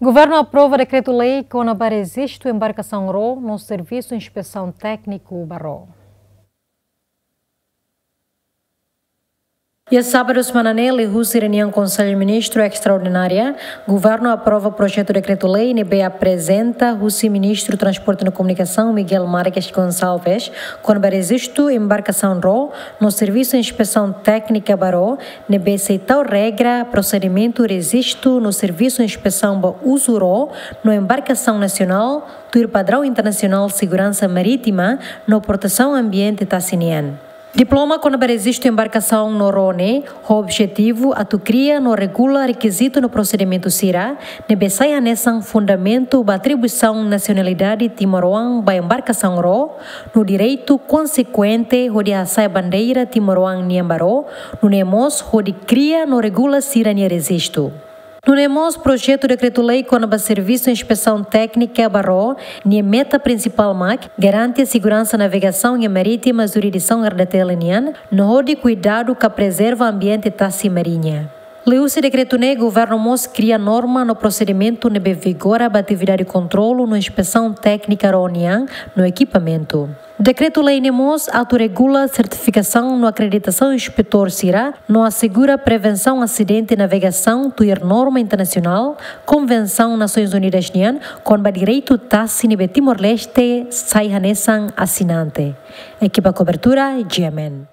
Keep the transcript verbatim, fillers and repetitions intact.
Governu aprova dekretu-lei kona-ba rejistu embarkasaun ró no servisu inspesaun tékniku ba ró. Iha sábadu semana ne'e, liuhusi reuniaun Konsellu Ministru Estraordinária, Governu aprova projetu dekretu-lei ne'ebé aprezenta husi Ministru Transporte no Komunikasaun, Miguel Marques Gonçalves, kona-ba rejistu embarkasaun ró no servisu inspesaun téknika ba ró, ne'ebé sei tau regra prosedimentu rejistu no servisu inspesaun ba uzu ró no embarkasaun nasionál, tuir padraun internasionál seguransa marítima no protesaun ambiente tasi nian. Diploma kona-ba rejistu embarkasaun no ró ne'e, ho objetivu atu kria no regula rekizitu no prosedimentu sira, ne'ebé sai hanesan fundamentu ba atribuisaun nasionalidade timoroan ba embarkasaun ró, no direitu konsekuente hodi hasa'e bandeira timoroan nian ba ró, nune'e mós hodi kria no regula sira-nia rejistu. Nune'e mós projetu dekretu-lei kona-ba servisu inspesaun téknika ba ró, nia meta prinsipál mak garante seguransa navegasaun iha marítima jurisdisaun R D T L nian, no hodi kuidadu ka prezerva ambiente tasi mariña. Liuhusi dekretu ne'e, governu mós kria norma no prosedimentu ne'ebé vigora ba atividade kontrolu no inspesaun téknika ró nian no ekipamentu. Dekretu-lei ne'e mós atu regula sertifikasaun no akreditasaun inspetór sira, no asegura prevensaun asidente navegasaun tuir norma internasionál, Konvensaun Nasoins Unidas nian kona-ba direitu tasi ne'ebé Timor-Leste sai hanesan asinante. Ekipa kobertura, G M N.